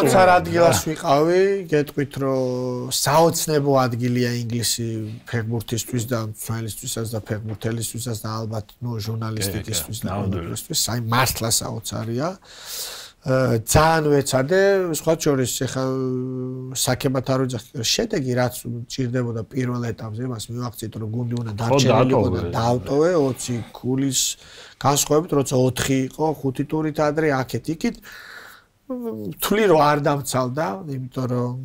საოცარ ადგილას ვიყავი, გეტყვით რომ საოცნებო ადგილია ინგლისი ფეხბურთისთვის და მწვრთნელისთვისაც და ფეხბურთელისთვისაც და ალბათ ჟურნალისტიკისთვის და ყველაფერისთვის, აი მართლა საოცარია. ძალიან ვეცადე, სხვა შორის ეხლა საქებათ არ ვიძახი, შედეგი რაც ჭირდებოდა პირველ ეტაპზე, მას მივახციეთ რომ გუნდი უნდა დარჩენილიყო და დაავტოვე 20 ქულის განსხვავებით, როცა 4 იყო, 5 ტურით ადრე აქეთ-იქით თვლი რომ არ დამცალდა, იმიტომ რომ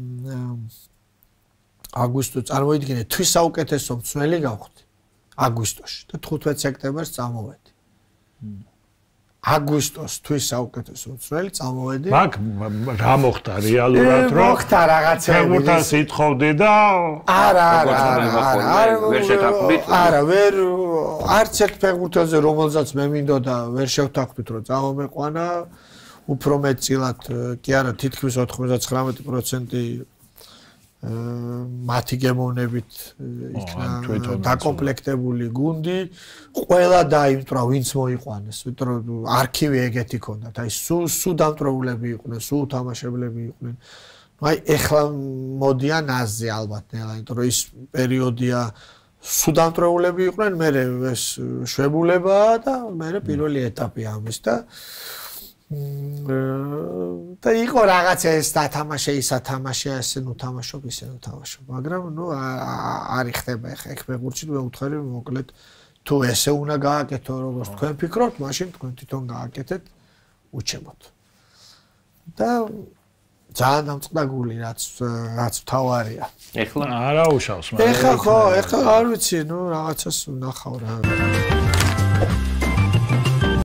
აგვისტო წარმოიდგინე თვის საუკეთესო მწვრთნელი გავხდი აგვისტოში და 15 სექტემბერს წამოვედი. აგვისტოს თვის საუკეთესო მწვრთნელი წამოვედი. მაგ რა მოხდა რეალურად რომ მოხდა რაღაცები ფეხბურთს ითხოვდი და არა ვერ არც ერთ ფეხბურთელზე რომელზეც მე მინდოდა ვერ შევთანხმდით რომ წამომეყვანა უფრო მეტწილად კი არა თითქმის 99% მათი გემოვნებით იქნა დაკომპლექტებული გუნდი ყველა დაიმტვრა ვინც მოიყვანეს იმიტომ რომ არქივი ეგეთი ქონდათ აი სულ დამტვრეულები იყვნენ სულ თამაშებლები იყვნენ აი ეხლა მოდიან აზზე ალბათ ნელა იმიტომ რომ ის პერიოდია სულ დამტვრეულები იყვნენ მე ეს შვებულება და მე პირველი ეტაპი ამის და იყო რაღაცა ეს დათამაშე ის ათამაშე ასე ნუ თამაშობ ისე ნუ თამაშობ მაგრამ ნუ არ იხდება ეხა ეგ ფეხბურთში მე ვუთხარი მოკლედ თუ ესე უნდა გააკეთო როგორც თქვენ ფიქრობთ მაშინ თქვენ თვითონ გააკეთეთ უჩემოთ და ძალიან დამწყდა გული რაც თავარია ეხლა არა უშავს ეხლა ხო ეხლა არ ვიცი ნუ რაღაცას ვნახავ რა